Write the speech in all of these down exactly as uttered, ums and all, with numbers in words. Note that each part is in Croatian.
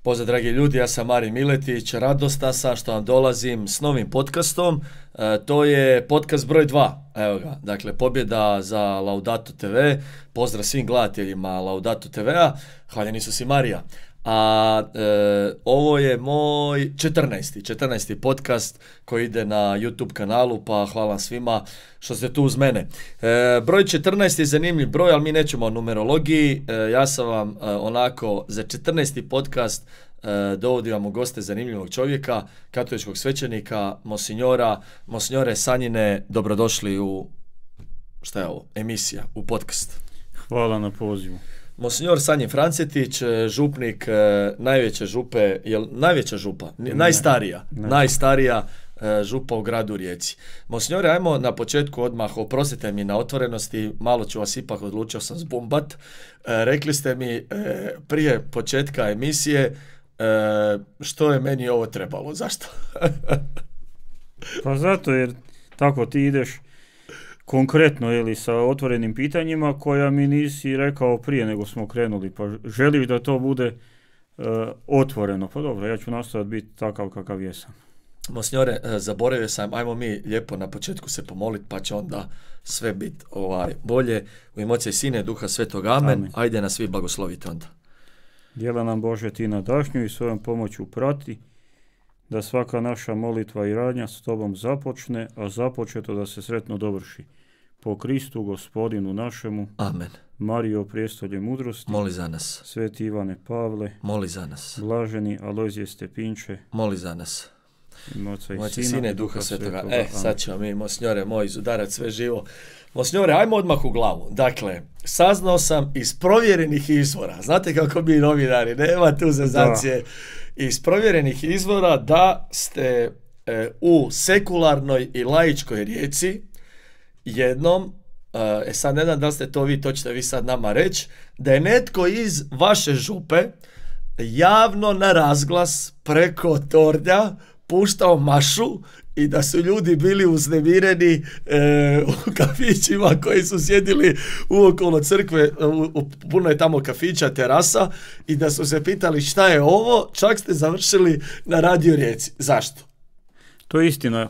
Pozdrav dragi ljudi, ja sam Marin Miletić, radostan sam što vam dolazim s novim podcastom, e, to je podcast broj dva, evo ga, dakle pobjeda za Laudato te ve, pozdrav svim gledateljima Laudato te ve-a, hvaljen Isus i Marija. A e, ovo je moj četrnaesti, četrnaesti podcast koji ide na YouTube kanalu, pa hvala svima što ste tu uz mene. E, broj četrnaest je zanimljiv broj, ali mi nećemo o numerologiji. E, ja sam vam e, onako za četrnaesti podcast e, dovodim vam u goste zanimljivog čovjeka, katoličkog svećenika, monsinjora, monsinjore Sanjine, dobrodošli u, šta je ovo, emisija, u podcast. Hvala na pozivu. Monsinjor Sanjin Francetić, župnik najveće župe, jel najveća župa, ne, najstarija, ne. najstarija župa u gradu Rijeci. Monsinjore, ajmo na početku odmah, oprostite mi na otvorenosti, malo ću vas ipak, odlučio sam zbumbat. Rekli ste mi prije početka emisije što je meni ovo trebalo, zašto? Pa zato jer tako ti ideš konkretno ili sa otvorenim pitanjima koja mi nisi rekao prije nego smo krenuli, pa želiš da to bude uh, otvoreno. Pa dobro, ja ću nastojati biti takav kakav jesam. Monsinjore, zaboravio sam, ajmo mi lijepo na početku se pomoliti, pa će onda sve biti ovaj, bolje. U ime Oca i Sina i Duha Svetog, amen. amen. Ajde nas svi blagoslovite onda. Djela nam Bože ti nadašnju i svojom pomoću prati, da svaka naša molitva i radnja s tobom započne, a započeto da se sretno dovrši. Po Kristu Gospodinu našemu. Amen. Marijo, prijestolje mudrosti. Moli za nas. Sveti Ivane Pavle. Moli za nas. Blaženi Alojzije Stepinče. Moli za nas. Oca i Sina, Sina i Duha Svetoga. Svetoga. E, sad ćemo mi, monsinjore moj, izudarati sve živo. Monsinjore, ajmo odmah u glavu. Dakle, saznao sam iz provjerenih izvora. Znate kako mi novinari, nema tu zezancije. Iz provjerenih izvora da ste e, u sekularnoj i laičkoj Rijeci jednom, e sad ne znam da li ste to vi, to ćete vi sad nama reći, da je netko iz vaše župe javno na razglas preko tornja puštao mašu i da su ljudi bili uznemireni e, u kafićima koji su sjedili uokolo crkve, u, u, puno je tamo kafića, terasa, i da su se pitali šta je ovo, čak ste završili na Radio Rijeci. Zašto? To je istina.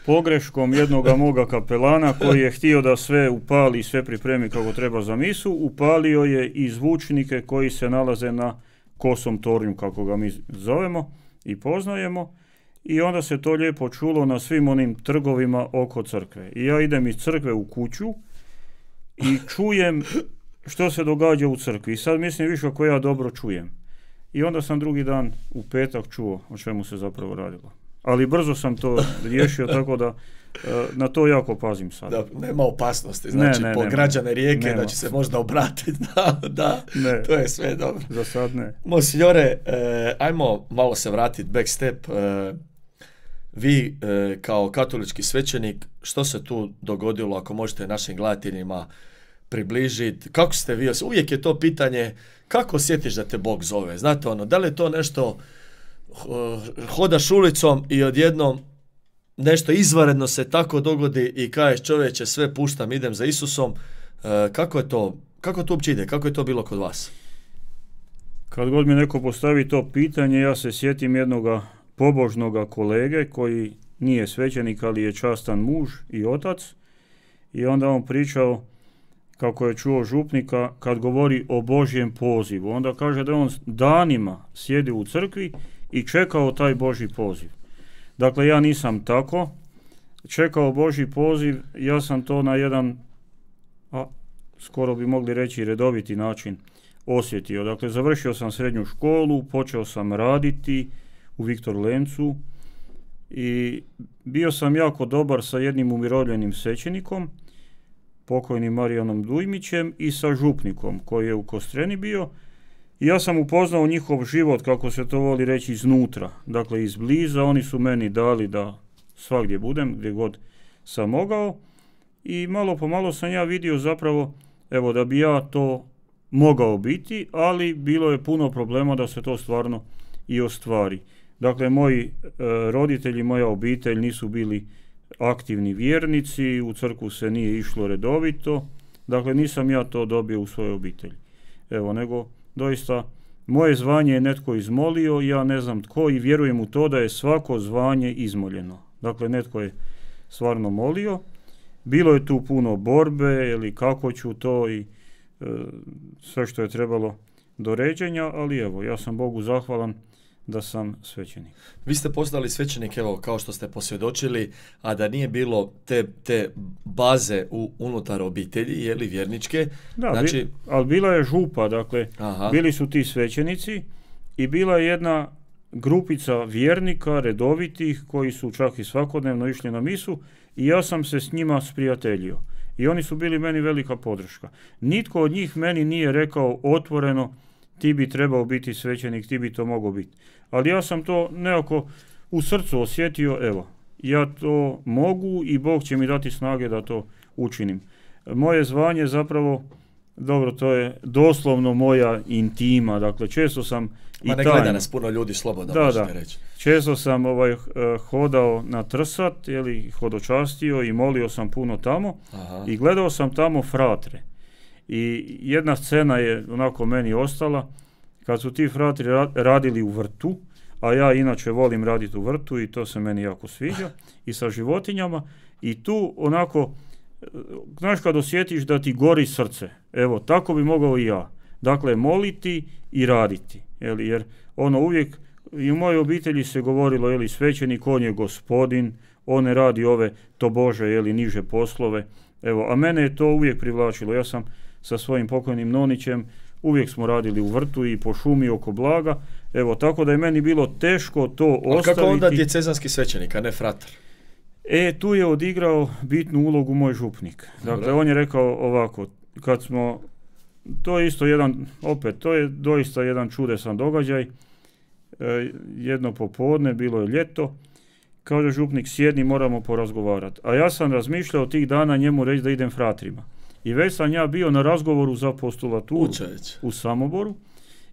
Pogreškom jednoga moga kapelana koji je htio da sve upali i sve pripremi kako treba za misu, upalio je i zvučnike koji se nalaze na Kosom tornju, kako ga mi zovemo i poznajemo. I onda se to lijepo čulo na svim onim trgovima oko crkve. I ja idem iz crkve u kuću i čujem što se događa u crkvi. I sad mislim više ako ja dobro čujem. I onda sam drugi dan u petak čuo o čemu se zapravo radilo. Ali brzo sam to riješio, tako da na to jako pazim sad. Da, nema opasnosti, znači ne, ne, po građane Rijeke nema. Da će se možda obratiti, da, da, ne, to je sve dobro. Za sad ne. Monsinjore, eh, ajmo malo se vratiti back step. Eh, vi eh, kao katolički svećenik, što se tu dogodilo, ako možete našim gledateljima približiti, kako ste vi, uvijek je to pitanje, kako osjetiš da te Bog zove, znate ono, da li je to nešto, hodaš ulicom i odjednom nešto izvanredno se tako dogodi i kažeš čovječe sve puštam, idem za Isusom, kako je to, kako to uopće ide, kako je to bilo kod vas? Kad god mi neko postavi to pitanje, ja se sjetim jednoga pobožnoga kolege koji nije svećenik, ali je častan muž i otac, i onda on pričao kako je čuo župnika kad govori o Božjem pozivu. Onda kaže da on danima sjedi u crkvi i čekao taj Božji poziv. Dakle, ja nisam tako čekao Božji poziv, ja sam to na jedan, a, skoro bi mogli reći redoviti način osjetio. Dakle, završio sam srednju školu, počeo sam raditi u Viktor Lencu i bio sam jako dobar sa jednim umirovljenim svećenikom, pokojnim Marijanom Dujmićem, i sa župnikom koji je u Kostreni bio. I ja sam upoznao njihov život, kako se to voli reći, iznutra, dakle izbliza. Oni su meni dali da svagdje budem, gdje god sam mogao, i malo po malo sam ja vidio zapravo, evo, da bi ja to mogao biti, ali bilo je puno problema da se to stvarno i ostvari. Dakle, moji e, roditelji, moja obitelj nisu bili aktivni vjernici, u crkvu se nije išlo redovito, dakle nisam ja to dobio u svojoj obitelji. Evo, nego doista moje zvanje je netko izmolio, ja ne znam tko i vjerujem u to da je svako zvanje izmoljeno. Dakle, netko je stvarno molio. Bilo je tu puno borbe ili kako ću to i e, sve što je trebalo do ređenja, ali evo, ja sam Bogu zahvalan da sam svećenik. Vi ste postali svećenik, evo, kao što ste posvjedočili, a da nije bilo te, te baze u, unutar obitelji, je li, vjerničke? Da, znači... bi, ali bila je župa, dakle, Aha. bili su ti svećenici i bila je jedna grupica vjernika, redovitih, koji su čak i svakodnevno išli na misu i ja sam se s njima sprijateljio. I oni su bili meni velika podrška. Nitko od njih meni nije rekao otvoreno ti bi trebao biti svećenik, ti bi to mogao biti. Ali ja sam to nekako u srcu osjetio, evo, ja to mogu i Bog će mi dati snage da to učinim. Moje zvanje zapravo, dobro, to je doslovno moja intima, dakle često sam i Ma ne gleda nas puno ljudi, slobodno da, možete da. reći. Često sam ovaj, hodao na Trsat, jeli, hodočastio i molio sam puno tamo. Aha. I gledao sam tamo fratre. I jedna scena je onako meni ostala, kad su ti fratri radili u vrtu, a ja inače volim raditi u vrtu i to se meni jako sviđa, i sa životinjama, i tu onako, znaš kad osjetiš da ti gori srce, evo, tako bi mogao i ja. Dakle, moliti i raditi, jeli, jer ono uvijek, i u mojoj obitelji se govorilo, jeli, svećenik, on je gospodin, on ne radi ove tobože, jeli, niže poslove, evo, a mene je to uvijek privlačilo. Ja sam sa svojim pokojnim nonićem, uvijek smo radili u vrtu i po šumi oko blaga, evo, tako da je meni bilo teško to ostaviti. A kako onda djecezanski svećenik, a ne fratar? E, tu je odigrao bitnu ulogu moj župnik. Dakle, Dobre. On je rekao ovako, kad smo, to je isto jedan, opet, to je doista jedan čudesan događaj, e, jedno popodne, bilo je ljeto, kaže župnik, sjedni, moramo porazgovarati. A ja sam razmišljao tih dana njemu reći da idem fratrima. I već sam ja bio na razgovoru za postulaturu Učeć. u Samoboru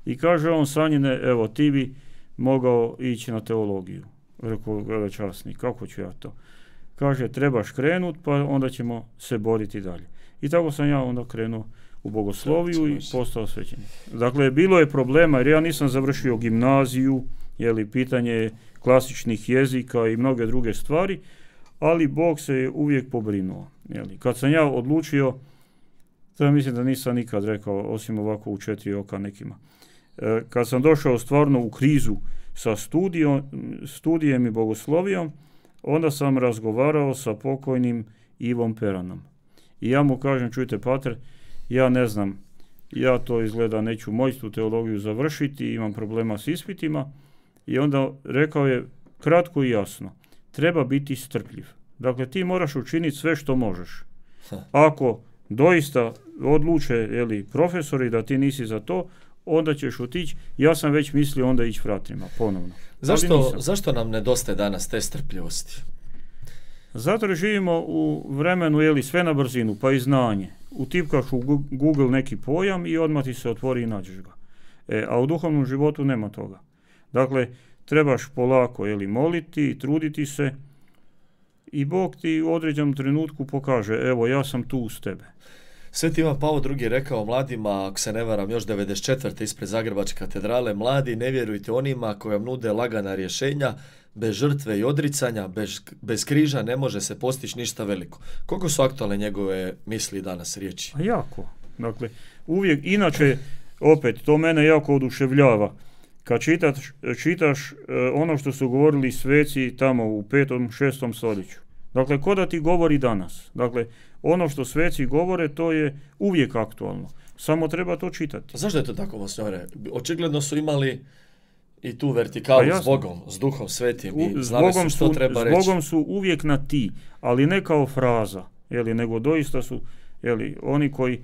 i kaže on, Sanjine, evo, ti bi mogao ići na teologiju. Rekao, velečasnik, kako ću ja to? Kaže, trebaš krenut, pa onda ćemo se boriti dalje. I tako sam ja onda krenuo u bogosloviju i postao svećenik. Dakle, bilo je problema jer ja nisam završio gimnaziju, jeli, pitanje klasičnih jezika i mnoge druge stvari, ali Bog se je uvijek pobrinuo. Jeli. Kad sam ja odlučio, to ja mislim da nisam nikad rekao, osim ovako u četiri oka nekima. E, kad sam došao stvarno u krizu sa studijom, studijem i bogoslovijom, onda sam razgovarao sa pokojnim Ivom Peranom. I ja mu kažem, čujte pater, ja ne znam, ja to izgleda neću moći tu teologiju završiti, imam problema s ispitima. I onda rekao je kratko i jasno, treba biti strpljiv. Dakle, ti moraš učiniti sve što možeš. Ako doista odluče, jeli, profesori da ti nisi za to, onda ćeš otići. Ja sam već mislio onda ići fratrima, ponovno. Zašto, zašto nam nedostaje danas te strpljivosti? Zato jer živimo u vremenu, jeli, sve na brzinu, pa i znanje. Utipkaš u Google neki pojam i odmah ti se otvori i nađeš ga. E, a u duhovnom životu nema toga. Dakle, trebaš polako, jeli, moliti, truditi se i Bog ti u određenom trenutku pokaže, evo, ja sam tu uz tebe. Sveti Ivan Pavao drugi rekao mladima, ako se ne varam, još devedeset četvrte ispred Zagrebačke katedrale, mladi, ne vjerujte onima koji vam nude lagana rješenja, bez žrtve i odricanja, bez, bez križa ne može se postići ništa veliko. Koliko su aktualne njegove misli danas, riječi? A jako. Dakle, uvijek, inače, opet, to mene jako oduševljava. Kad čitaš, čitaš ono što su govorili sveci tamo u petom, šestom stoljeću. Dakle, ko da ti govori danas. Dakle, ono što sveci govore, to je uvijek aktualno. Samo treba to čitati. Zašto je to tako, monsignore? Očigledno su imali i tu vertikalu s Bogom, s Duhom Svetim i znali su što treba reći. S Bogom su uvijek na ti, ali ne kao fraza, jeli, nego doista su, jeli, oni koji,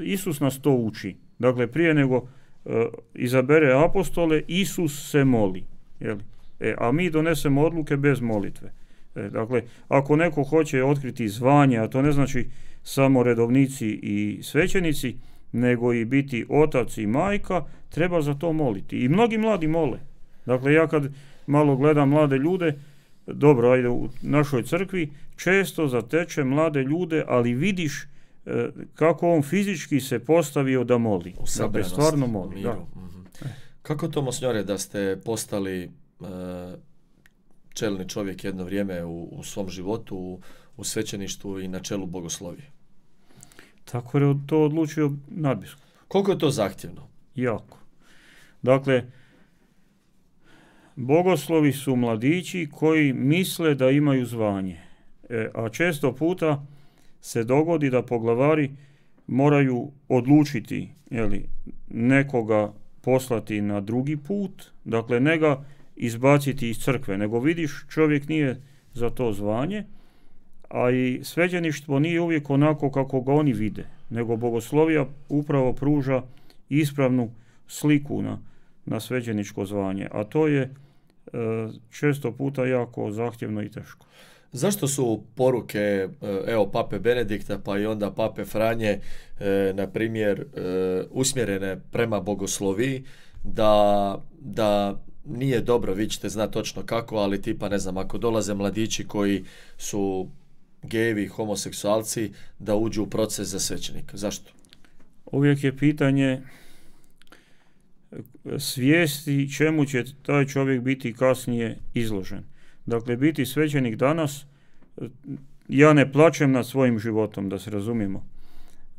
Isus nas to uči. Dakle, prije nego uh, izabere apostole, Isus se moli. Jeli. E, a mi donesemo odluke bez molitve. E, dakle, ako neko hoće otkriti zvanje, a to ne znači samo redovnici i svećenici, nego i biti otac i majka, treba za to moliti. I mnogi mladi mole. Dakle, ja kad malo gledam mlade ljude, dobro, ajde, u našoj crkvi često zateče mlade ljude, ali vidiš e, kako on fizički se postavio da moli. U dakle, stvarno moli. Da. Mm-hmm. Kako to, monsignore, da ste postali e, čelni čovjek jedno vrijeme u, u svom životu, u, u svećeništvu i na čelu bogoslovije? Tako je to odlučio nadbiskup. Koliko je to zahtjevno? Jako. Dakle, bogoslovi su mladići koji misle da imaju zvanje. E, a često puta se dogodi da poglavari moraju odlučiti, jeli, nekoga poslati na drugi put, dakle ne ga izbaciti iz crkve, nego vidiš čovjek nije za to zvanje, a i svećeništvo nije uvijek onako kako ga oni vide, nego bogoslovija upravo pruža ispravnu sliku na, na svećeničko zvanje, a to je e, često puta jako zahtjevno i teško. Zašto su poruke, evo, pape Benedikta pa i onda pape Franje, e, na primjer, e, usmjerene prema bogosloviji, da, da nije dobro, vi ćete znati točno kako, ali tipa, ne znam, ako dolaze mladići koji su gejevi, homoseksualci, da uđu u proces za svećenika. Zašto? Uvijek je pitanje svijesti čemu će taj čovjek biti kasnije izložen. Dakle, biti svećenik danas, ja ne plačem nad svojim životom, da se razumijemo.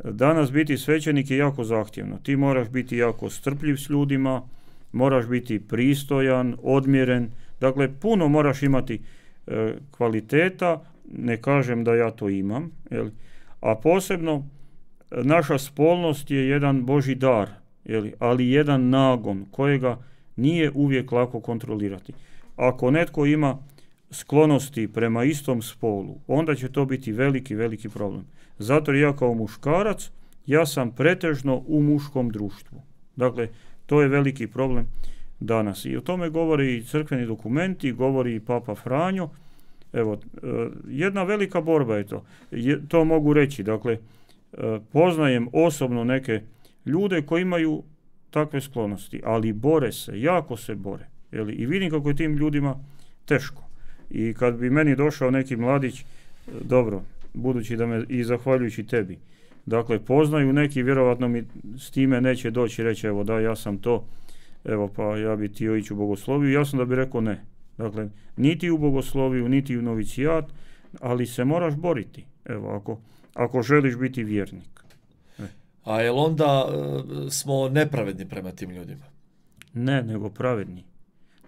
Danas biti svećenik je jako zahtjevno. Ti moraš biti jako strpljiv s ljudima, moraš biti pristojan, odmjeren. Dakle, puno moraš imati e, kvaliteta, ne kažem da ja to imam, jel? A posebno naša spolnost je jedan Božji dar, jel? Ali jedan nagon kojega nije uvijek lako kontrolirati. Ako netko ima sklonosti prema istom spolu, onda će to biti veliki, veliki problem. Zato ja kao muškarac, ja sam pretežno u muškom društvu. Dakle, to je veliki problem danas. I o tome govori i crkveni dokumenti, govori i Papa Franjo. Evo, jedna velika borba je to. Je, to mogu reći. Dakle, poznajem osobno neke ljude koji imaju takve sklonosti, ali bore se, jako se bore. Jeli, i vidim kako je tim ljudima teško. I kad bi meni došao neki mladić, dobro, budući da me i zahvaljujući tebi, dakle, poznaju neki, vjerovatno mi s time neće doći i reći, evo da, ja sam to, evo pa ja bi htio ići u bogosloviju, ja sam da bi rekao ne. Dakle, niti u bogosloviju, niti u novicijat, ali se moraš boriti, evo, ako, ako želiš biti vjernik. E. A jel onda uh, smo nepravedni prema tim ljudima? Ne, nego pravedni.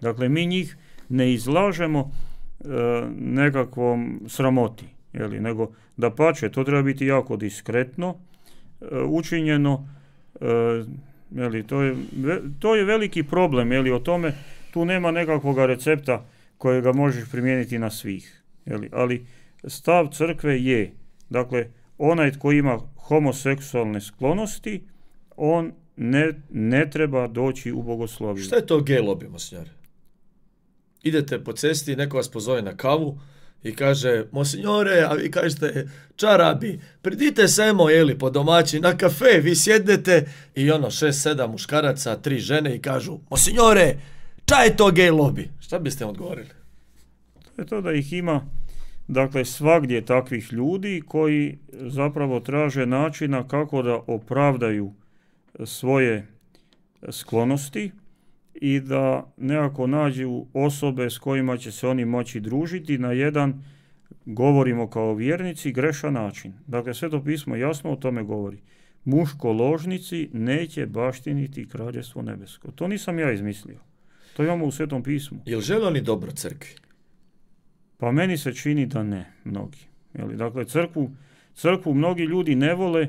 Dakle, mi njih ne izlažemo e, nekakvom sramoti, jeli, nego da pače, to treba biti jako diskretno e, učinjeno, e, jeli, to, je, to je veliki problem, jeli, o tome tu nema nekakvog recepta kojega možeš primijeniti na svih, jeli, ali stav crkve je, dakle, onaj tko ima homoseksualne sklonosti, on ne, ne treba doći u bogosloviju. Šta je to gej lobby, monsignore? Idete po cesti, neko vas pozove na kavu i kaže, monsignore, a vi kažete, čarabi, pridite semo, jeli, po domaći, na kafe, vi sjednete i ono, šest, sedam muškaraca, tri žene i kažu, monsignore, šta je to gej lobby? Šta biste odgovorili? To je to da ih ima, dakle, svagdje takvih ljudi koji zapravo traže načina kako da opravdaju svoje sklonosti i da nekako nađu osobe s kojima će se oni moći družiti na jedan, govorimo kao vjernici, grešan način. Dakle, Sveto pismo jasno o tome govori. Muško-ložnici neće baštiniti kraljevstvo nebesko. To nisam ja izmislio. To imamo u Svetom pismu. Jel žele oni dobro crkvi? Pa meni se čini da ne, mnogi. Jeli, dakle, crkvu, crkvu mnogi ljudi ne vole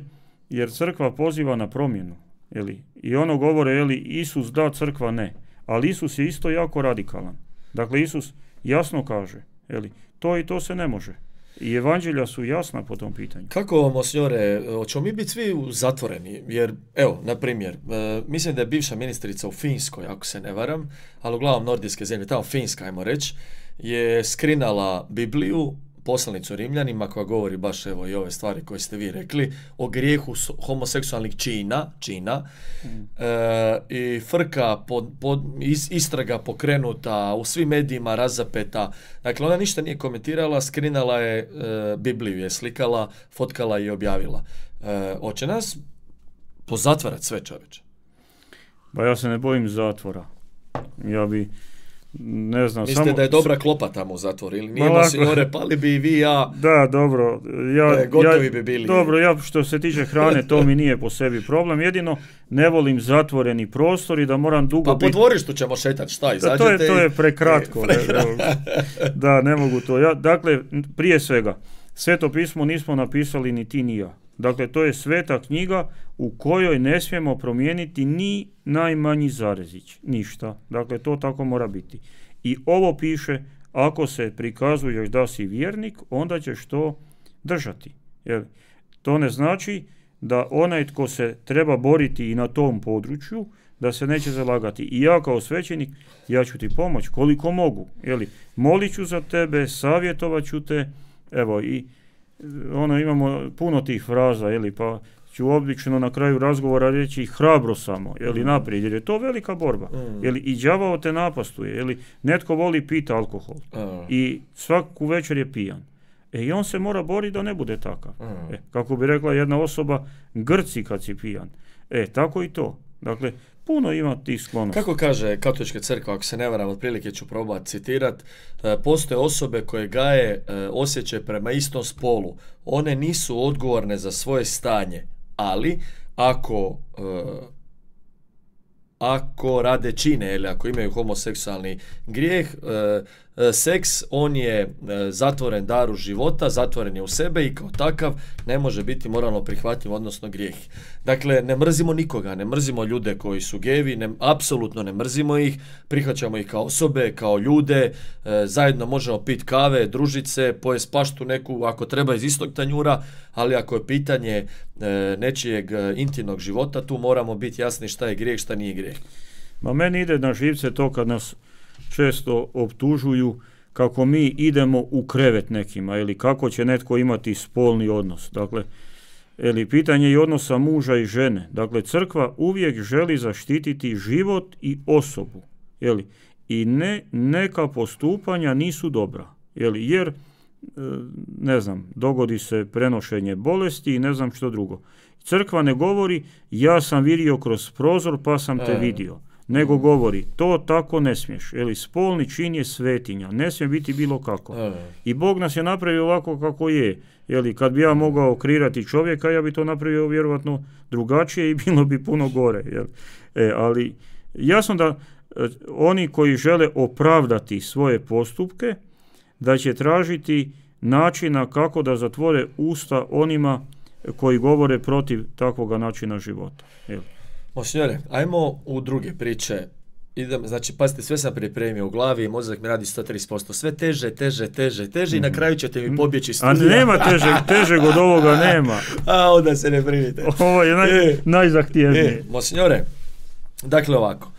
jer crkva poziva na promjenu. Jeli, i ono govore, jeli, Isus da, crkva ne. Ali Isus je isto jako radikalan. Dakle, Isus jasno kaže, jeli, to i to se ne može. I evanđelja su jasna po tom pitanju. Kako, monsignore, hoćemo mi biti svi zatvoreni? Jer, evo, na primjer, e, mislim da je bivša ministrica u Finskoj, ako se ne varam, ali uglavnom nordijske zemlje, tamo Finska, ajmo reći, je skrinala Bibliju, poslanicu Rimljanima, koja govori baš, evo, i ove stvari koje ste vi rekli, o grijehu homoseksualnih čina, čina mm. e, i frka, pod, pod, is, istraga pokrenuta, u svim medijima razapeta. Dakle, ona ništa nije komentirala, skrinala je e, Bibliju, je slikala, fotkala i objavila. E, hoće nas pozatvarat sve, čoveče? Pa ja se ne bojim zatvora. Ja bi, ne znam... Mislite samo, da je dobra klopa tamo u zatvoru ili nije, monsignore, pali bi i vi i ja... Da, dobro. Ja, e, gotovi ja, bi bili. Dobro, ja što se tiče hrane, to mi nije po sebi problem. Jedino ne volim zatvoreni prostor i da moram dugo pa biti... Pa po dvorištu ćemo šetati, šta, izađete to je, to je prekratko. E, prekratko. Da, ne mogu to. Ja, dakle, prije svega, Sveto pismo nismo napisali ni ti ni ja. Dakle, to je sveta knjiga u kojoj ne smijemo promijeniti ni najmanji zarezić, ništa. Dakle, to tako mora biti. I ovo piše, ako se prikazuješ da si vjernik, onda ćeš to držati. Jer to ne znači da onaj tko se treba boriti i na tom području, da se neće zalagati. I ja kao svećenik, ja ću ti pomoći koliko mogu. Jeli, molit ću za tebe, savjetovat ću te, evo i ono, imamo puno tih fraza, jeli, pa ću obično na kraju razgovora reći hrabro samo, jeli, mm. naprijed, jer je to velika borba. Mm. Jeli, i đavao te napastuje, jeli, netko voli piti alkohol mm. i svaku večer je pijan. E, i on se mora boriti da ne bude takav. Mm. E, kako bi rekla jedna osoba, grci kad si pijan. E, tako i to. Dakle, puno ima tih sklonosti. Kako kaže Katolička crkva, ako se ne varam, otprilike ću probati citirati, postoje osobe koje gaje osjećaj prema istom spolu. One nisu odgovorne za svoje stanje, ali ako ako rade čine ili ako imaju homoseksualni grijeh, seks, on je zatvoren daru života, zatvoren je u sebe i kao takav ne može biti moralno prihvatljiv, odnosno grijeh. Dakle, ne mrzimo nikoga, ne mrzimo ljude koji su gevi, ne, apsolutno ne mrzimo ih, prihvaćamo ih kao osobe, kao ljude, zajedno možemo piti kave, družit se, pojest paštu neku, ako treba iz istog tanjura, ali ako je pitanje nečijeg intimnog života, tu moramo biti jasni šta je grijeh, šta nije grijeh. Ma meni ide na živce to kad nas često optužuju kako mi idemo u krevet nekima ili kako će netko imati spolni odnos. Dakle, ili pitanje i odnosa muža i žene. Dakle, crkva uvijek želi zaštititi život i osobu. Jeli, i ne, neka postupanja nisu dobra. Jeli, jer, ne znam, dogodi se prenošenje bolesti i ne znam što drugo. Crkva ne govori ja sam vidio kroz prozor pa sam te vidio. Nego govori, to tako ne smiješ. Jeli, spolni čin je svetinja, ne smije biti bilo kako. E. I Bog nas je napravio ovako kako je. Jeli, kad bi ja mogao kreirati čovjeka, ja bi to napravio vjerojatno drugačije i bilo bi puno gore. Jeli. E, ali jasno da e, oni koji žele opravdati svoje postupke, da će tražiti načina kako da zatvore usta onima koji govore protiv takvoga načina života. Jeli. Monsignore, ajmo u druge priče. Idem, znači, pazite, sve sam pripremio u glavi, mozak mi radi sto trideset posto. Sve teže, teže, teže, teže i na kraju ćete mi pobjeći studija. A nema težeg, težeg od ovoga nema. A onda se ne brinite. Ovo je naj, e, najzahtjevnije. E, Monsignore, dakle ovako,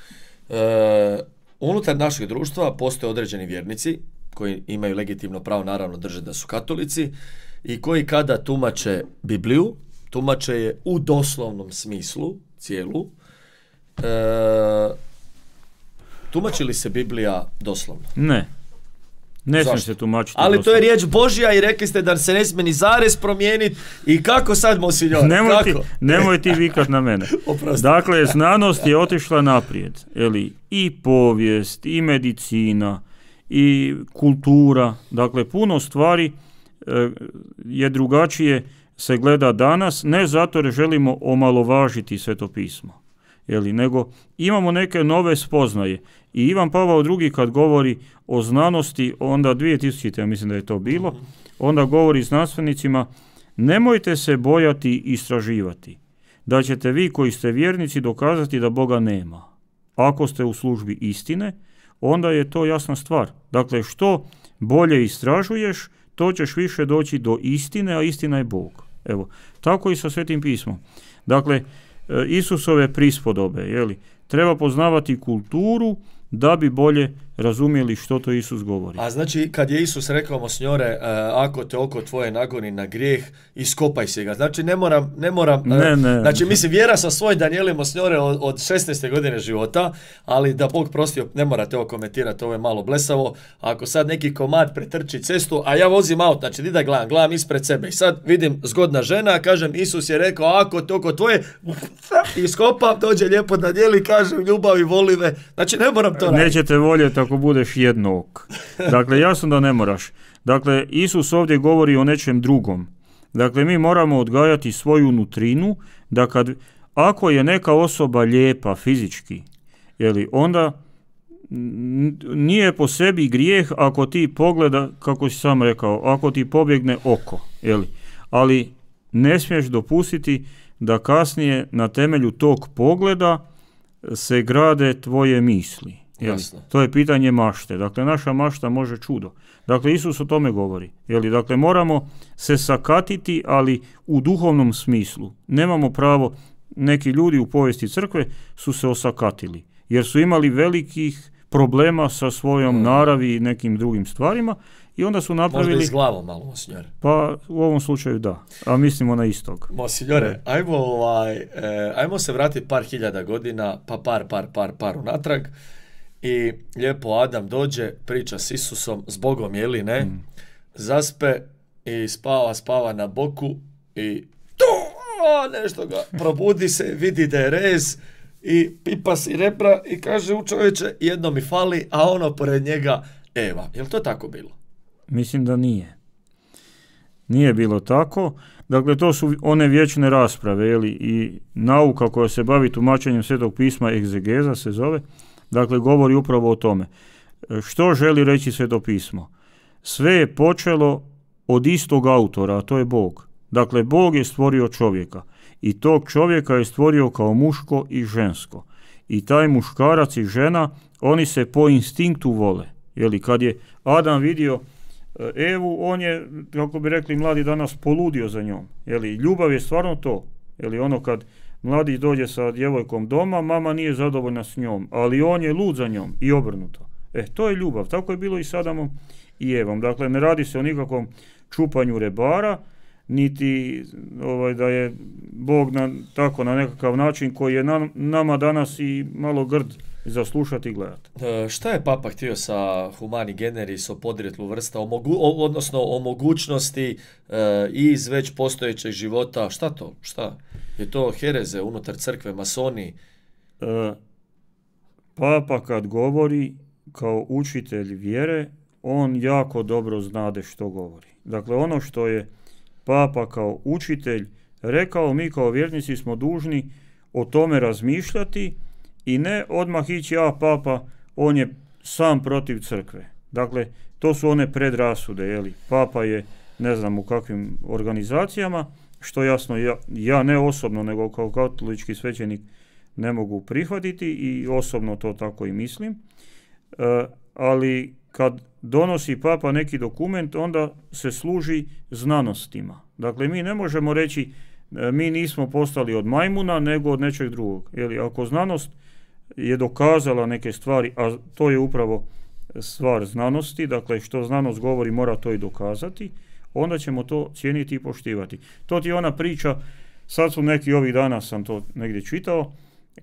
e, unutar našeg društva postoje određeni vjernici koji imaju legitimno pravo, naravno, držati da su katolici i koji kada tumače Bibliju, tumače je u doslovnom smislu, cijelu. E, tumači li se Biblija doslovno? Ne. Ne smije se tumačiti ali doslovno. To je riječ Božja i rekli ste da se ne smije ni zarez promijeniti. I kako sad, monsignor? Nemoj ti, nemoj ti vikat na mene. Dakle, znanost je otišla naprijed. Eli, i povijest, i medicina, i kultura. Dakle, puno stvari e, je drugačije se gleda danas, ne zato jer želimo omalovažiti Sveto pismo, jeli, nego imamo neke nove spoznaje. I Ivan Pavao drugi kad govori o znanosti, onda dvije tisućite, ja mislim da je to bilo, onda govori znanstvenicima, nemojte se bojati istraživati, da ćete vi koji ste vjernici dokazati da Boga nema. Ako ste u službi istine, onda je to jasna stvar. Dakle, što bolje istražuješ, to ćeš više doći do istine, a istina je Bog. Evo, tako i sa Svetim pismom. Dakle, Isusove prispodobe, jeli, treba poznavati kulturu da bi bolje razumjeli što to Isus govori. A znači, kad je Isus rekao, monsignore, uh, ako te oko tvoje nagoni na grijeh, iskopaj se ga. Znači, ne moram, ne moram, uh, ne, ne, znači, mislim, vjera sa svoj Danijeli, monsignore, od, od šesnaeste godine života, ali da Bog prostio, ne morate ovo komentirati, ovo je malo blesavo. Ako sad neki komad pretrči cestu, a ja vozim auto, znači, di da gledam, gledam ispred sebe i sad vidim zgodna žena, kažem, Isus je rekao, ako te oko tvoje, iskopam, dođe lijepo Danijeli, kažem, ljubavi, voli me. Znači, ne moram to raditi. Nećete voljeti ako budeš jednog. Dakle, jasno da ne moraš. Dakle, Isus ovdje govori o nečem drugom. Dakle, mi moramo odgajati svoju nutrinu, da kad, ako je neka osoba lijepa fizički, jeli, onda nije po sebi grijeh ako ti pogleda, kako si sam rekao, ako ti pobjegne oko, jeli. Ali ne smiješ dopustiti da kasnije na temelju tog pogleda se grade tvoje misli. Jeli, to je pitanje mašte. Dakle, naša mašta može čudo. Dakle, Isus o tome govori. Jeli, dakle, moramo se sakatiti, ali u duhovnom smislu. Nemamo pravo, neki ljudi u povijesti crkve su se osakatili, jer su imali velikih problema sa svojom naravi i nekim drugim stvarima i onda su napravili... Možda i s glavom malo, monsignore. Pa u ovom slučaju da, a mislimo na istog. Monsignore, ajmo, ovaj, eh, ajmo se vratiti par hiljada godina, pa par, par, par, par unatrag. I lijepo Adam dođe, priča s Isusom, s Bogom, jeli ne, mm. zaspe i spava, spava na boku i tu, o, nešto ga probudi se, vidi da je rez i pipa si repra i kaže, u čovječe, jedno mi fali, a ono pored njega Eva. Je li to tako bilo? Mislim da nije. Nije bilo tako. Dakle, to su one vječne rasprave, jeli, i nauka koja se bavi tumačenjem Svetog pisma, egzegeza se zove. Dakle, govori upravo o tome. Što želi reći Sveto pismo? Sve je počelo od istog autora, a to je Bog. Dakle, Bog je stvorio čovjeka i tog čovjeka je stvorio kao muško i žensko. I taj muškarac i žena, oni se po instinktu vole. Jeli, kad je Adam vidio Evu, on je, kako bi rekli mladi danas, poludio za njom. Jeli, ljubav je stvarno to. Jeli, ono kad mladić dođe sa djevojkom doma, mama nije zadovoljna s njom, ali on je lud za njom i obrnuto. E, to je ljubav. Tako je bilo i s Adamom i Evom. Dakle, ne radi se o nikakvom čupanju rebara, niti ovaj, da je Bog na, tako na nekakav način koji je nam, nama danas i malo grd za slušati i gledati. E, šta je Papa htio sa humani generis, o podrijetlu vrsta, o mogu, o, odnosno o mogućnosti e, iz već postojećeg života? Šta to? Šta? Je to hereze unutar crkve, masoni? E, Papa kad govori kao učitelj vjere, on jako dobro znade što govori. Dakle, ono što je Papa kao učitelj rekao, mi kao vjernici smo dužni o tome razmišljati i ne odmah ići, a Papa, on je sam protiv crkve. Dakle, to su one predrasude, jeli? Papa je, ne znam u kakvim organizacijama, što jasno ja, ja ne osobno, nego kao katolički svećenik ne mogu prihvatiti i osobno to tako i mislim. E, ali kad donosi Papa neki dokument, onda se služi znanostima. Dakle, mi ne možemo reći e, mi nismo postali od majmuna, nego od nečeg drugog. Jeli, ako znanost je dokazala neke stvari, a to je upravo stvar znanosti, dakle što znanost govori mora to i dokazati, onda ćemo to cijeniti i poštivati. To ti je ona priča, sad su neki ovih dana sam to negdje čitao,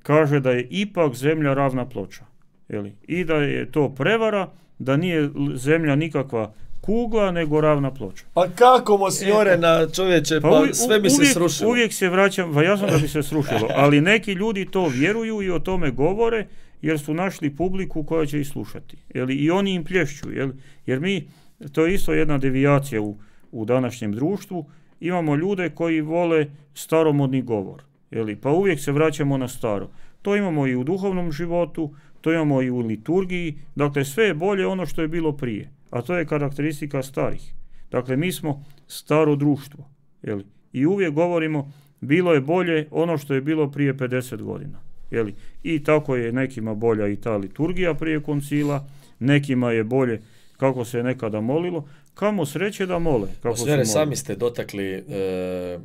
kaže da je ipak zemlja ravna ploča. Jeli? I da je to prevara, da nije zemlja nikakva kugla, nego ravna ploča. Pa kako, monsignore, e, na čovječe, pa, pa sve bi uvijek, se srušilo. Uvijek se vraćam, pa jasno da bi se srušilo, ali neki ljudi to vjeruju i o tome govore, jer su našli publiku koja će ih slušati. Jeli? I oni im plješću, jeli? Jer mi, to je isto jedna devijacija u, u današnjem društvu, imamo ljude koji vole staromodni govor. Jeli? Pa uvijek se vraćamo na staro. To imamo i u duhovnom životu, to imamo i u liturgiji, dakle sve je bolje ono što je bilo prije. A to je karakteristika starih. Dakle, mi smo staro društvo. Jeli? I uvijek govorimo, bilo je bolje ono što je bilo prije pedeset godina. Jeli? I tako je nekima bolja i ta liturgija prije koncila, nekima je bolje kako se je nekada molilo. Kamo sreće da mole. Kako Osvjere, sami ste dotakli e, e,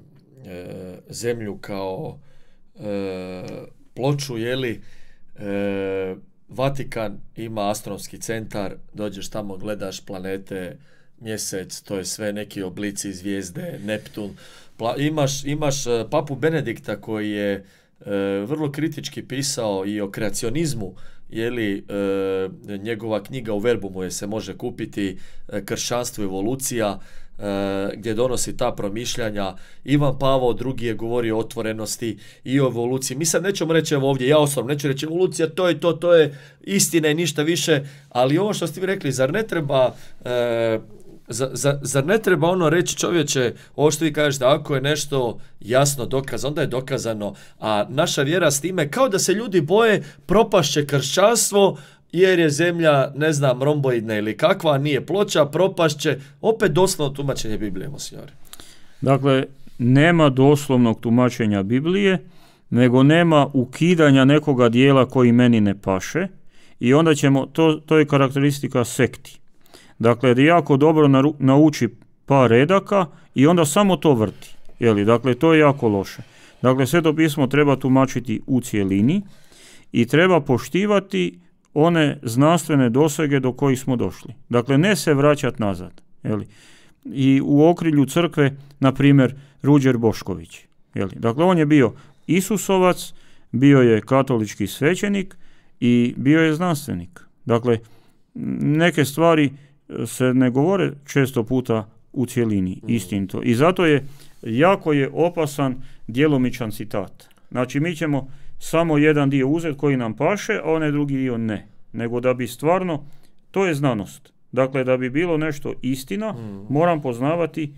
zemlju kao e, ploču, jeli? E, Vatikan ima astronomski centar, dođeš tamo, gledaš planete, mjesec, to je sve neki oblici zvijezde, Neptun. Pla, imaš, imaš uh, papu Benedikta koji je uh, vrlo kritički pisao i o kreacionizmu, jeli uh, njegova knjiga U verbumu je se može kupiti, uh, Kršćanstvo, evolucija, Uh, gdje donosi ta promišljanja. Ivan Pavao drugi je govorio o otvorenosti i o evoluciji. Mi sad nećemo reći evo ovdje, ja osobno neću reći evolucija, to je to, to je istina i ništa više, ali ovo što ste vi rekli, zar ne treba uh, za, za, zar ne treba ono reći čovječe, ovo što vi kažete, ako je nešto jasno dokazano, onda je dokazano, a naša vjera s time, kao da se ljudi boje, propašće kršćanstvo, jer je zemlja, ne znam, romboidna ili kakva, nije ploča, propašće, opet doslovno tumačenje Biblije, monsignore. Dakle, nema doslovnog tumačenja Biblije, nego nema ukidanja nekoga dijela koji meni ne paše i onda ćemo, to, to je karakteristika sekti. Dakle, da jako dobro naru, nauči par redaka i onda samo to vrti. Jeli? Dakle, to je jako loše. Dakle, Sveto pismo treba tumačiti u cjelini i treba poštivati one znanstvene dosege do kojih smo došli. Dakle, ne se vraćati nazad. Jeli? I u okrilju crkve, na primjer, Ruđer Bošković. Jeli? Dakle, on je bio Isusovac, bio je katolički svećenik i bio je znanstvenik. Dakle, neke stvari se ne govore često puta u cjelini, istinito. I zato je jako je opasan djelomičan citat. Znači, mi ćemo samo jedan dio uzeti koji nam paše, a onaj drugi dio ne. Nego da bi stvarno, to je znanost. Dakle, da bi bilo nešto istina, mm. moram poznavati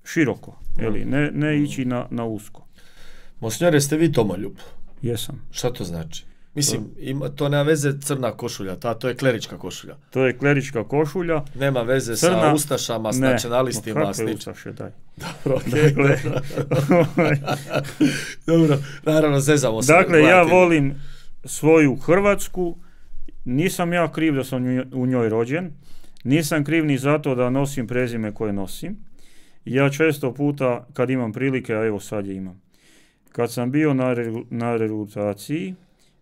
široko, eli, ne, ne ići na, na usko. Monsignore, ste vi domoljub? Jesam. Šta to znači? Mislim, ima, to nema veze crna košulja, ta, to je klerička košulja. To je klerička košulja. Nema veze crna, sa ustašama, s ne, nacionalistima. Ne, kakve ustaše, daj. Dobro, okay, dakle, dobro, naravno, zezamo se. Dakle, ja volim svoju Hrvatsku, nisam ja kriv da sam u njoj rođen, nisam kriv ni zato da nosim prezime koje nosim. Ja često puta, kad imam prilike, a evo sad je imam, kad sam bio na, re, na regrutaciji,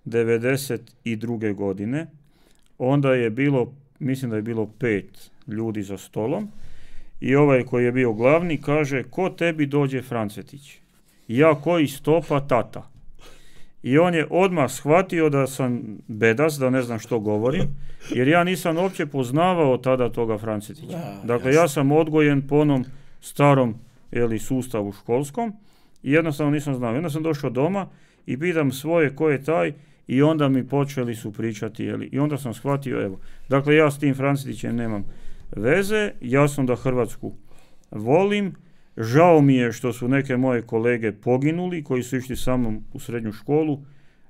devedeset druge godine, onda je bilo, mislim da je bilo pet ljudi za stolom i ovaj koji je bio glavni kaže, ko tebi dođe Francetić? Ja koji stopa tata. I on je odmah shvatio da sam bedas, da ne znam što govorim, jer ja nisam uopće poznavao tada toga Francetića. Da, dakle, jasno. Ja sam odgojen po onom starom jeli, sustavu školskom i jednostavno nisam znao. Onda sam došao doma i pitam svoje ko je taj i onda mi počeli su pričati. Jeli, i onda sam shvatio, evo, dakle ja s tim Francetićem nemam veze, jasno da Hrvatsku volim. Žao mi je što su neke moje kolege poginuli koji su išli sa mnom u srednju školu.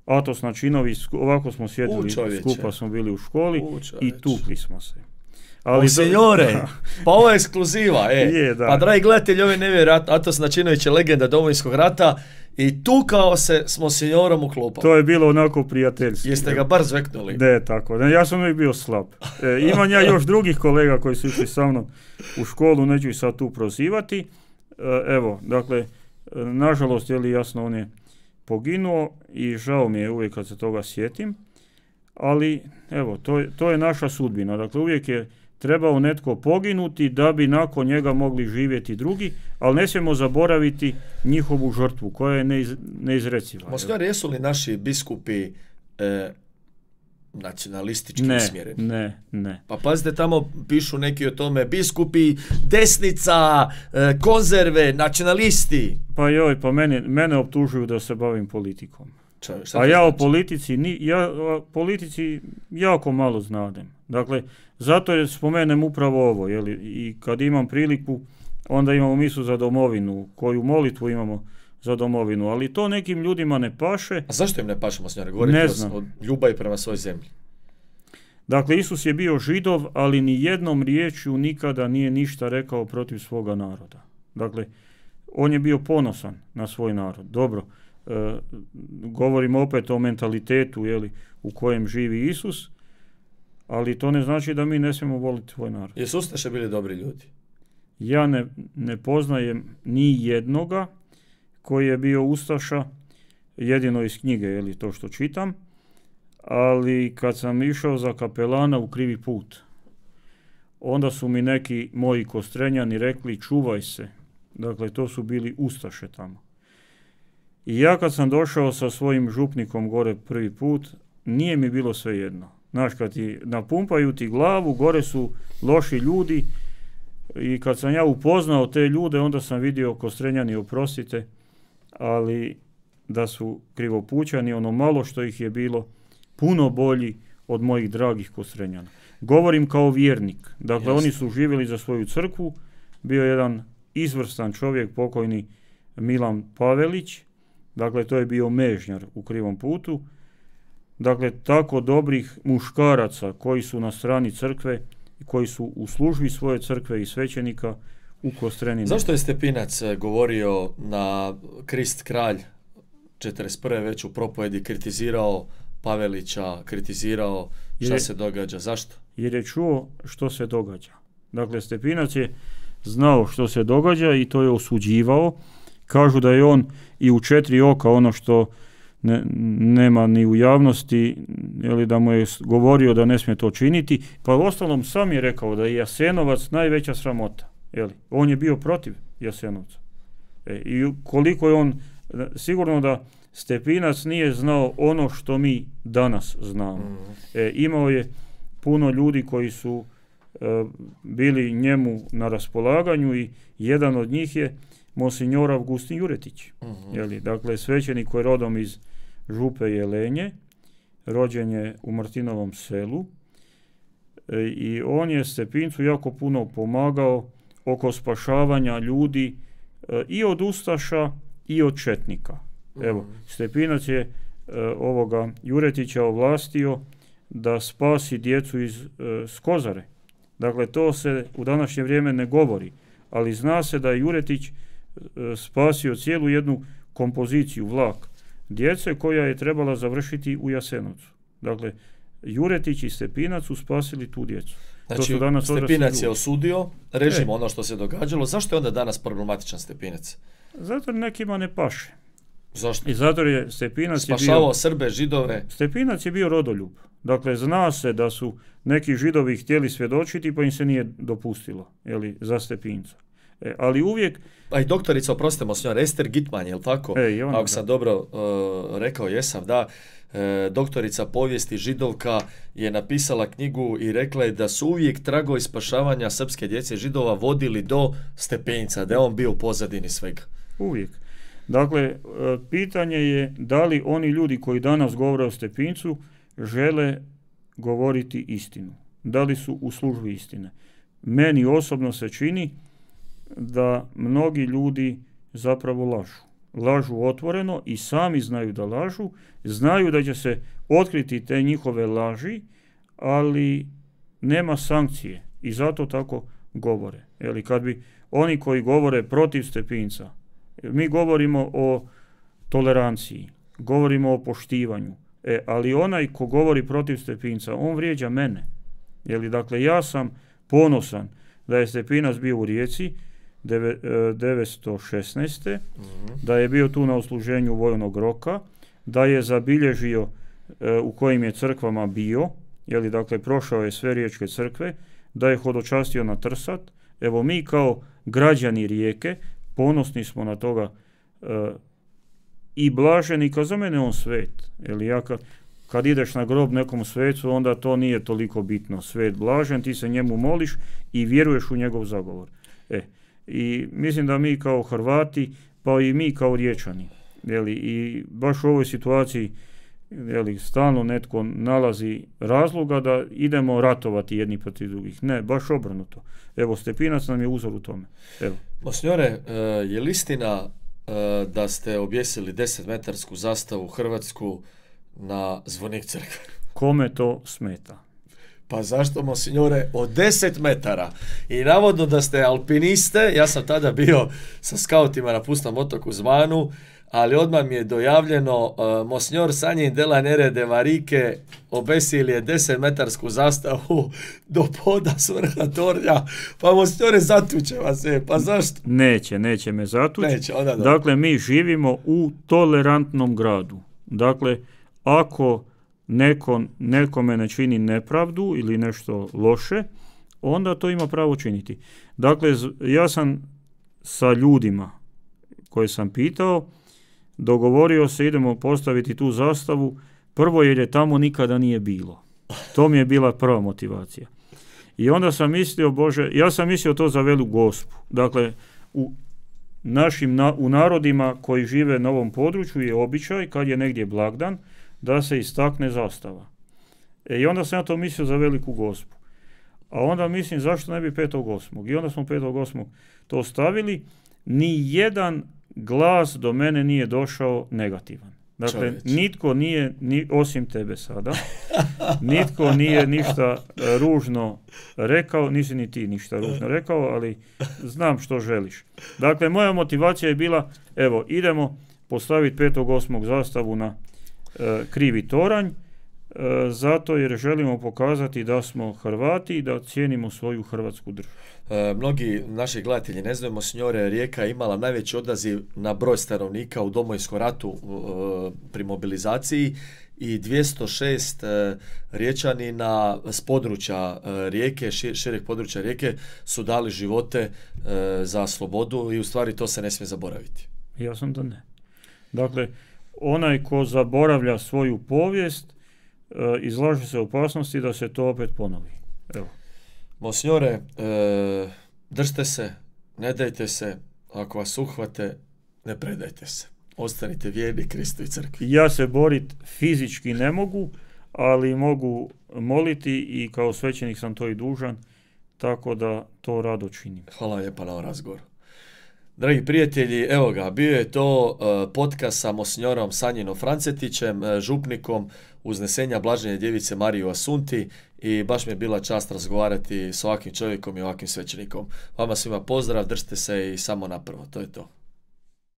Atos Načinović, ovako smo sjedili, skupa smo bili u školi i tukli smo se. Ali signore, pa ovo je ekskluziva, e. Je, pa dragi gledatelji, ove nevjerojatno, Atos Načinović je legenda Domovinskog rata i tukao se s monsignorom u klupama. To je bilo onako prijateljski. Jeste ga bar zveknuli? Ne, tako. Ne, ja sam uvijek bio slab. E, imam ja još drugih kolega koji su išli sa mnom u školu, neću ih sad tu prozivati. E, evo, dakle, nažalost, je li jasno, on je poginuo i žao mi je uvijek kad se toga sjetim. Ali, evo, to je, to je naša sudbina. Dakle, uvijek je trebao netko poginuti da bi nakon njega mogli živjeti drugi, ali ne smijemo zaboraviti njihovu žrtvu koja je neiz, neizreciva. Monsignore, jesu li naši biskupi e, nacionalistički ne, usmjereni? Ne, ne. Pa pazite, tamo pišu neki o tome, biskupi, desnica, e, konzerve, nacionalisti. Pa joj, pa mene, mene optužuju da se bavim politikom. Ča, A ja znači? o politici, ni, ja o politici jako malo znadem. Dakle, zato je spomenem upravo ovo, jeli, i kad imam priliku, onda imamo misu za domovinu, koju molitvu imamo za domovinu, ali to nekim ljudima ne paše. A zašto im ne paše, monsignore? Govorite o, o ljubavi prema svojoj zemlji. Dakle, Isus je bio Židov, ali ni jednom riječju nikada nije ništa rekao protiv svoga naroda. Dakle, on je bio ponosan na svoj narod. Dobro, e, govorimo opet o mentalitetu, jeli, u kojem živi Isus, ali to ne znači da mi ne smijemo voliti svoj narod. Jesu ustaše bili dobri ljudi? Ja ne, ne poznajem ni jednoga koji je bio ustaša, jedino iz knjige, jeli, to što čitam, ali kad sam išao za kapelana u krivi put, onda su mi neki moji Kostrenjani rekli čuvaj se. Dakle, to su bili ustaše tamo. I ja kad sam došao sa svojim župnikom gore prvi put, nije mi bilo svejedno. Znaš, kad ti napumpaju ti glavu, gore su loši ljudi i kad sam ja upoznao te ljude, onda sam vidio, Kostrenjani, oprostite, ali da su krivopućani, ono malo što ih je bilo, puno bolji od mojih dragih Kostrenjana. Govorim kao vjernik. Dakle, Jasne. Oni su živjeli za svoju crkvu. Bio je jedan izvrstan čovjek, pokojni Milan Pavelić. Dakle, to je bio mežnjar u krivom putu. Dakle, tako dobrih muškaraca koji su na strani crkve, koji su u službi svoje crkve i svećenika u Kostreni. Zašto je Stepinac govorio na Krist kralj četrdeset prve već u propovedi, kritizirao Pavelića, kritizirao šta je, se događa? Zašto? Jer je čuo što se događa. Dakle, Stepinac je znao što se događa i to je osuđivao. Kažu da je on i u četiri oka, ono što ne, nema ni u javnosti, ili da mu je govorio da ne smije to činiti, pa ostalom sam je rekao da je Jasenovac najveća sramota. Jeli? On je bio protiv Jasenovca. E, I koliko je on, sigurno da Stepinac nije znao ono što mi danas znamo. E, imao je puno ljudi koji su e, bili njemu na raspolaganju i jedan od njih je Monsignor Avgustin Juretić. Uh-huh. Jeli, dakle, svećenik koji je rodom iz Župe Jelenje, rođen je u Martinovom selu e, i on je Stepincu jako puno pomagao oko spašavanja ljudi e, i od ustaša i od četnika. Uh-huh. Evo, Stepinac je e, ovoga Juretića ovlastio da spasi djecu iz e, Skozare. Dakle, to se u današnje vrijeme ne govori, ali zna se da je Juretić e, spasio cijelu jednu kompoziciju, vlak djece koja je trebala završiti u Jasenovcu. Dakle, Juretić i Stepinac su spasili tu djecu. Znači, Stepinac je osudio režim, e. ono što se događalo. Zašto je onda danas problematičan Stepinac? Zato nekima ne paše. Zašto? I zato je Stepinac spašavao je bio, Srbe, Židove. Stepinac je bio rodoljub. Dakle, zna se da su neki Židovi htjeli svjedočiti, pa im se nije dopustilo, jeli, za Stepinca. E, ali uvijek... A i doktorica, oprostite, monsignor, Ester Gitman, je li tako? E, ona, Ako sam da. dobro uh, rekao, jesam, da. E, doktorica povijesti Židovka je napisala knjigu i rekla je da su uvijek tragovi spašavanja srpske djece Židova vodili do Stepinca, da je on bio u pozadini svega. Uvijek. Dakle, pitanje je da li oni ljudi koji danas govore o Stepincu žele govoriti istinu. Da li su u službi istine. Meni osobno se čini da mnogi ljudi zapravo lažu. Lažu otvoreno i sami znaju da lažu, znaju da će se otkriti te njihove laži, ali nema sankcije i zato tako govore. Eli kad bi oni koji govore protiv Stepinca, mi govorimo o toleranciji, govorimo o poštivanju, e, ali onaj ko govori protiv Stepinca, on vrijeđa mene. Jeli, dakle, ja sam ponosan da je Stepinac bio u Rijeci devetsto šesnaeste. Mm-hmm. da je bio tu na odsluženju vojnog roka, da je zabilježio e, u kojim je crkvama bio, jeli, dakle, prošao je sve riječke crkve, da je hodočastio na Trsat. Evo, mi kao građani Rijeke ponosni smo na toga e, i blaženi, kao za mene on svet. Jeli, ja kad, kad ideš na grob nekom svecu, onda to nije toliko bitno. Svet blažen, ti se njemu moliš i vjeruješ u njegov zagovor. E, i mislim da mi kao Hrvati, pa i mi kao Riječani, jeli, i baš u ovoj situaciji, jeli, stalno netko nalazi razloga da idemo ratovati jedni protiv drugih. Ne, baš obrnuto. Evo, Stepinac nam je uzor u tome. Evo. Monsignore, je li istina da ste objesili desetmetarsku zastavu Hrvatsku na zvonik crkve? Kome to smeta? Pa zašto, monsignore, od deset metara? I navodno da ste alpiniste, ja sam tada bio sa skautima na Pustom otoku Zvanu, ali odmah mi je dojavljeno, uh, monsignor Sanjin de la Nere de Varike obesili je desetmetarsku zastavu do poda s vrha tornja, pa monsignore zatuće vas je, pa zašto? Neće, neće me zatući. Neće, onda da. Dakle, mi živimo u tolerantnom gradu. Dakle, ako neko, nekome ne čini nepravdu ili nešto loše, onda to ima pravo činiti. Dakle, ja sam sa ljudima koje sam pitao, dogovorio se, idemo postaviti tu zastavu, prvo jer je tamo nikada nije bilo. To mi je bila prva motivacija. I onda sam mislio, Bože, ja sam mislio to za Velu Gospu. Dakle, u našim, na, u narodima koji žive na ovom području je običaj, kad je negdje blagdan, da se istakne zastava. E, I onda sam ja to mislio za Veliku Gospu. A onda mislim, zašto ne bi petog osmog I onda smo petog osmog to stavili. Ni jedan glas do mene nije došao negativan. Dakle, Čovječ. nitko nije, ni, osim tebe sada, nitko nije ništa ružno rekao, nisi ni ti ništa ružno rekao, ali znam što želiš. Dakle, moja motivacija je bila, evo, idemo postaviti petog osmog zastavu na e, krivi toranj, e, zato jer želimo pokazati da smo Hrvati i da cijenimo svoju hrvatsku državu. E, mnogi naši gledatelji ne znaju, Monsignore, Rijeka je imala najveći odaziv na broj stanovnika u Domovinskom ratu e, pri mobilizaciji i dvjesto šest e, Riječanina s područja e, Rijeke, šir, šireg područja Rijeke su dali živote e, za slobodu i u stvari to se ne smije zaboraviti. Ja sam da ne. Dakle, onaj ko zaboravlja svoju povijest e, izlaže se opasnosti da se to opet ponovi. Evo. Monsignore, e, držite se, ne dajte se, ako vas uhvate, ne predajte se. Ostanite vjerni Kristu i crkvi. Ja se borit fizički ne mogu, ali mogu moliti i kao svećenik sam to i dužan, tako da to rado činim. Hvala lijepa na ovom razgovoru. Dragi prijatelji, evo ga, bio je to uh, podcast sa Monsignorom Sanjinom Francetićem, uh, župnikom Uznesenja Blažene Djevice Marije u Asunti i baš mi je bila čast razgovarati s ovakvim čovjekom i ovakvim svećenikom. Vama svima pozdrav, držite se i samo napravo, to je to.